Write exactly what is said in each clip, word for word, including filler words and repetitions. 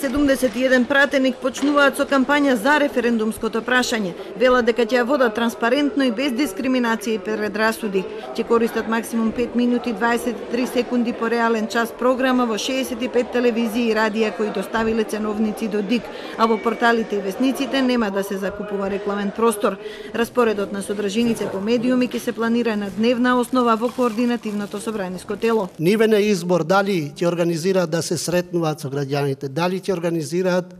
седумдесет и еден пратеник почнуваат со кампања за референдумското прашање. Велат дека ќе ја водат транспарентно и без дискриминација и предрасуди. Ќе користат максимум пет минути дваесет и три секунди по реален час програма во шеесет и пет телевизии и радија кои доставиле ценовници до ДИК, а во порталите и весниците нема да се закупува рекламен простор. Распоредот на содржиници по медиуми ќе се планира на дневна основа во координативното собраниско тело. Нивен е избор дали ќе организираат да се сретнуваат со граѓаните, дали ќе организираат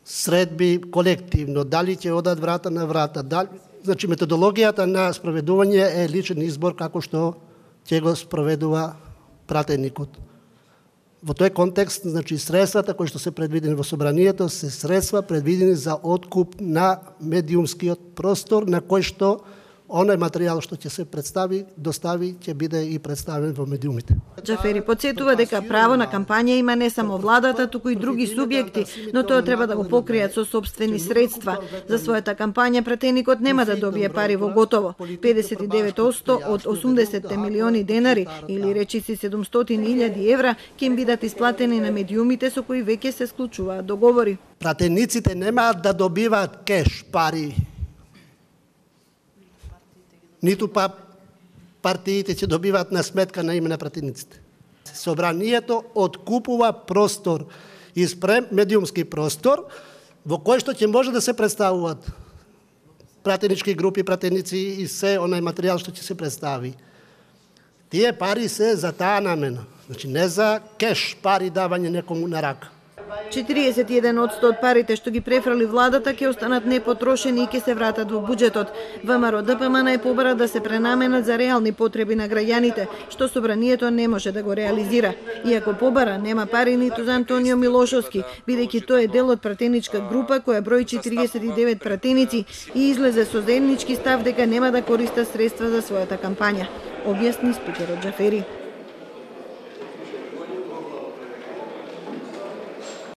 средби колективно, дали ќе одат врата на врата, дали... Значи, методологијата на спроведување е личен избор како што ќе го спроведува пратеникот. Во тој контекст, значи, средствата кои што се предвидени во собранието се средства предвидени за откуп на медиумскиот простор на кој што оној материјал што ќе се представи, достави, ќе биде и представен во медиумите. Џафери подсетува дека право на кампања има не само владата, туку и други субјекти, но тоа треба да го покријат со сопствени средства. За својата кампања пратеникот нема да добие пари во готово. педесет и девет одсто од осумдесет милиони денари или речиси седумстотини илјади евра ќе им бидат исплатени на медиумите со кои веќе се склучуваат договори. Пратениците немаат да добиваат кеш пари. Ниту па партиите ќе добиваат на сметка на име на пратениците. Собранието откупува простор, испрем медиумски простор, во кој што ќе може да се представуваат пратенички групи, пратеници и се онај материјал што ќе се представи. Тие пари се за таа намена, значи не за кеш пари давање некому на рака. четириесет и еден одсто од парите што ги префрали владата ќе останат непотрошени и ќе се вратат во буџетот. ВМРО ДПМН е побара да се пренаменат за реални потреби на граѓаните, што собранието не може да го реализира. Иако побара нема пари ниту за Антонио Милошовски, бидејќи тој е дел од пратеничка група која брои четириесет и девет пратеници и излезе со заеднички став дека нема да користа средства за својата кампања, објасни спикерот Џафери.